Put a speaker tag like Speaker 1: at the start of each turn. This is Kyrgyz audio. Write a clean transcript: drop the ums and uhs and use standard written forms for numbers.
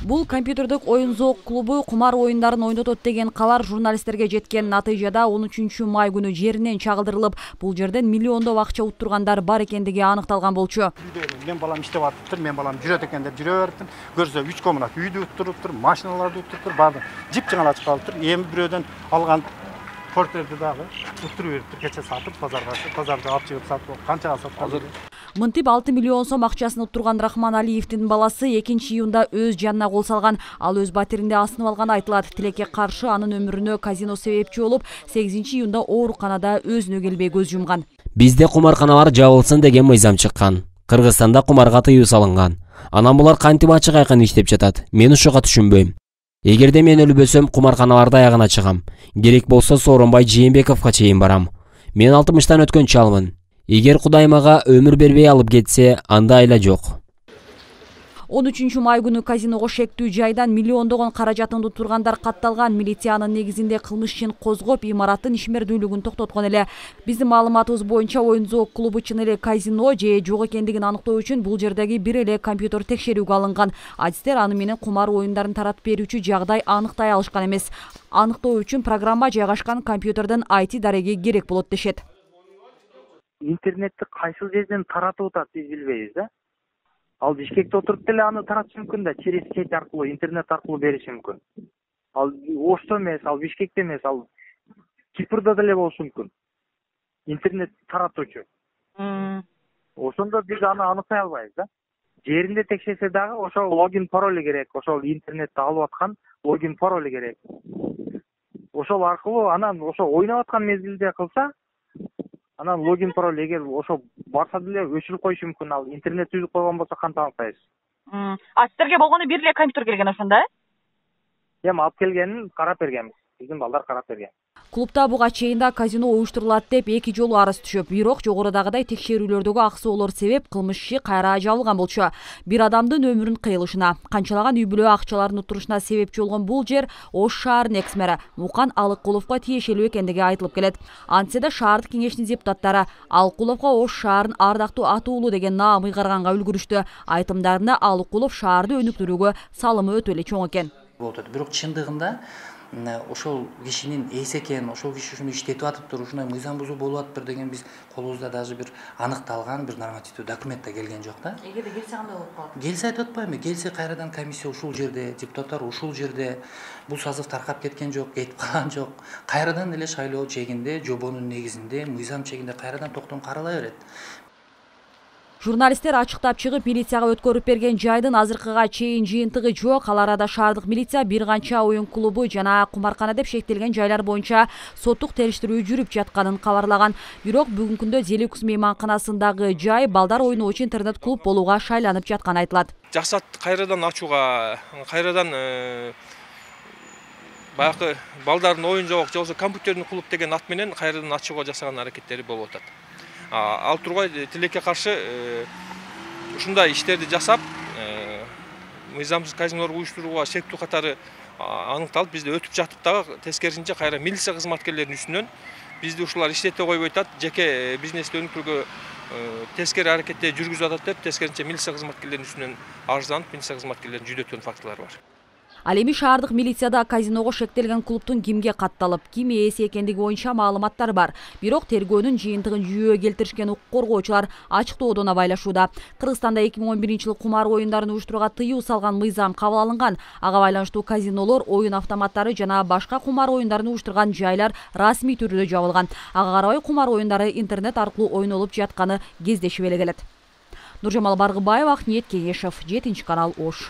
Speaker 1: Бул компьютердик оюн зоок клубу кумар оюндарын ойнотот деген кабар журналисттерге жеткен. Натыйжада 13 май күнү жеринен чагылдырылып, бул жерден миллиондоп акча уттургандар бар экендиги аныкталган болчу.
Speaker 2: Мен балам иштеп атыптыр, мен балам жүрөт экен деп жүрө бериптир. Көрсө 3 комнат үйдү уттуруптур, машиналарды уттуруптур, баардык жип-жыңалачып калыптыр. Эми бирөөдөн алган портерди дагы уттуруп бериптир, кече сатып базарда алып чыгып сатып, канчага саткан.
Speaker 1: Мынтип 6 миллион сом акчасын уттурган Рахман Алиевдин баласы 2-июнда өз жанына кол салган. Ал өз батиринде асынып алган айтылат. Тилекке каршы анын өмүрүнө казино себепчи болуп, 8-июнда ооруканада өзүнө келбей көз жумган.
Speaker 3: Бизде кумарканалар жабылсын деген мыйзам чыккан. Кыргызстанда кумарга тыюу салынган. Анан булар кантип ачык айкын иштеп жатат? Мен ушуга түшүнбөйм. Эгерде мен өлбөсөм, кумарканаларда аягына чыгам. Керек болсо Сооронбай Жээнбековго чейин барам. Мен 60-тан өткөн чалмын. Эгер Кудай мага өмүр бербей алып кетсе, анда айла жок.
Speaker 1: 13 май күнү казиного шектүү жайдан миллиондогон каражатын уттургандар катталган. Милициянын негизинде кылмыш ишин козгоп, имараттын ишмердүүлүгүн токтоткон эле. Биздин маалыматыбыз боюнча оюн зоок клубу чын эле казино же жок экендигин аныктоо үчүн бул жердеги бир эле компьютер текшерүүгө алынган. Адистер аны менен кумар оюндарын таратып берүүчү жагдай аныктай алышкан эмес. Аныктоо үчүн программа жайгашкан компьютерден IT дареги керек болот дешет.
Speaker 4: Интернетти кайсыл жерден таратып атат биз билбейбиз да. Ал Бишкекте отуруп деле аны таратышы мүмкүн да, через сеть аркылуу, интернет аркылуу бериши мүмкүн. Ал Ошто эмес, ал Бишкекте эмес, ал Кипрда деле болушу мүмкүн. Интернет таратуучу. Ошондо биз аны аныктай албайбыз да. Жеринде текшерсе дагы ошол логин пароли керек, ошол интернетти алып аткан логин пароли керек. Ошол аркылуу анан ошо ойноп аткан мезгилде кылса, анан логин пароль эгер ошо барса деле өчүрүп коюшу мүмкүн. Ал интернет үзүп койгон болсо кантип аныктайбыз?
Speaker 5: А сиздерге болгону бир эле компьютер келген ошондо, э?
Speaker 4: Эми алып келгенин карап бергенбиз. Биздин балдар карап берген.
Speaker 1: Клубда буга чейин да казино уюштурулат деп 2 жолу арыз түшүп, бирок жогорудагыдай текшерүүлөрдөгү аксоолор себеп кылмыш иши кайра жабылган болчу. Бир адамдын өмүрүн кыйылышына, канчалаган үй бүлө акчаларын уттурушуна себепчи болгон бул жер Ош шаарынын экс-мэри Мукан Алыккуловго тиешелүү экендиги айтылып келет. Антсе да шаардык кеңештин депутаттары Алыккуловго Ош шаарын ардактуу атуулу деген наам ыйгарганга үлгүрүштү. Айтымдарында Алыккулов шаарды өнүктүрүүгө салымы өтө эле чоң экен.
Speaker 6: Бирок чындыгында ошол кишинин эс экен, ошол киши ушуну иштетип атыптыр, ушундай мыйзам бузуу болуп атыптыр деген биз колубузда даже бир аныкталган бир нормативдүү документ да келген жок да.
Speaker 5: Эгерде келсе кандай болуп калат?
Speaker 6: Келсе айтып атпаймынбы? Келсе кайрадан комиссия ушул жерде, депутаттар ушул жерде, бул сазык таркап кеткен жок, кетип калган жок. Кайрадан эле шайлоо чегинде, жобонун негизинде, мыйзам чегинде кайрадан токтом карала берет.
Speaker 1: Журналисттер ачыктап чыгып, милицияга өткөрүп берген жайдын азыркыга чейин жыйынтыгы жок. Ал арада шаардык милиция бир канча оюн клубу жана кумаркана деп шектелген жайлар боюнча соттук териштирүү жүрүп жатканын кабарлаган. Бирок бүгүнкү күндө Зеликус мейманканасындагы жай балдар ойноочу интернет клуб болууга шайланып жатканы айтылат.
Speaker 7: Жаксат кайрадан ачууга, кайрадан баягы балдардын оюн жок же болбосо компьютердик клуб деген ат менен кайрадан ачууга жасаган аракеттери болуп атат. Ал тургай тилекке каршы ушундай иштерди жасап, мыйзамсыз казинолорду уюштурууга шектүү катары аныкталып, бизде өтүп жатып дагы тескерисинче кайра милиция кызматкерлеринин үстүнөн бизди ушулар иштете койбой атат, жеке бизнести өнүктүрүүгө тескери аракетте жүргүзүп атат деп тескерисинче милиция кызматкерлеринин үстүнөн арызданып, милиция кызматкерлерин жүдөткөн фактылар бар.
Speaker 1: Ал эми шаардык милицияда казиного шектелген клубтун кимге катталып, ким ээси экендиги боюнча маалыматтар бар. Бирок тергөөнүн жыйынтыгын жүйөгө келтиришкен укук коргоочулар ачыктоодон абайлашууда. Кыргызстанда 2011-жылы кумар оюндарын уюштурууга тыюу салган мыйзам кабыл алынган. Ага байланыштуу казинолор, оюн автоматтары жана башка кумар оюндарын уюштурган жайлар расмий түрдө жабылган. Ага карабай кумар оюндары интернет аркылуу ойнолуп жатканы кездешип эле келет. Нуржамал Баргыбаева, Акниет Кеңешев, 7 канал, Ош.